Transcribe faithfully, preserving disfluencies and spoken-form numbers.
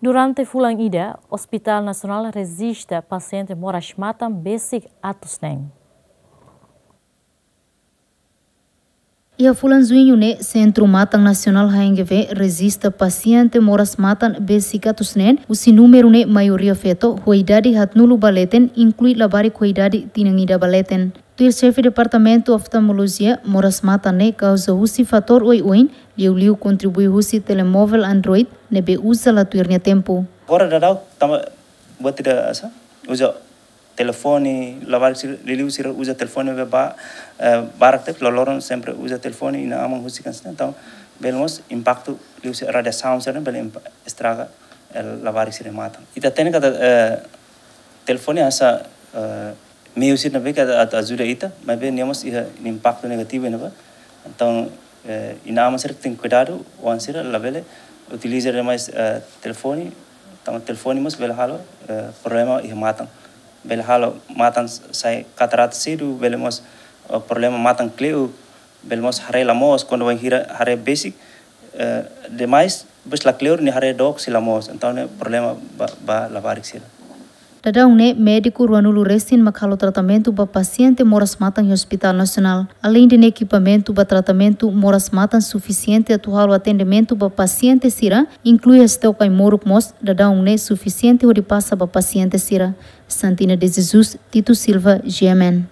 Durante fulan ida, Hospital Nasionál rejista pasiente moras-matan besik atus neen. Iha fulan Juñu ne'e, Sentru Matan Nasionál H N G V rejista pasiente moras-matan besik atus neen, husi númeru ne'e maioria feto, ho idade haatnulu ba leten, inklui labarik ho idade tinan ida ba leten. Tuir Xefe Departamentu Oftalmolojia, moras-matan ne'e kauza husi fatór oioin, liuliu kontribui husi telemovel Android, ne'ebé uza la tuir nia tempu. Agora daudaun tanba buat ida hanesan, uza telefone, labarik sira, liuliu sira uza telefone be ba, eh, barak tebes, loroloron sempre uza telefone, inan-aman husik hanesan ne'e, entaun bele mós impaktu liuhusi radiasaun sira bele impa-, estraga, eh, labarik sira-nia matan. Ita hatene katak, eh, telefone hanesan, eh, meiu sira ne'ebé ke atu ajuda ita, maibé nia mós iha impaktu negativu ne'ebá. Entaun, eh, inan-aman sira tenke kuidadu, oan sira labele utiliza demais, eh, telefone, tanba telefone mós bele halo, eh, problema iha matan. Bele halo matan sai katarata sedu, bele mós, eh, problema matan kle'uk, bele mós haree la moos, kuandu bainhira haree besik, eh, demais, depois la kleur nia haree dook sei la moos. Entaun ne'e problema ba, ba labarik sira. Daudaun ne'e, médiku ruanulu resin mak halo tratamentu ba pasiente moras-matan iha Hospital Nasionál. Aleinde ne'e, ekipamentu ba tratamentu moras-matan sufisiente atu halo atendimentu ba pasiente sira, inklui STOK Aimoruk mós, daudaun ne'e sufisiente hodi pasa ba pasiente sira. Santina de Jesus, Tito Silva, G M N.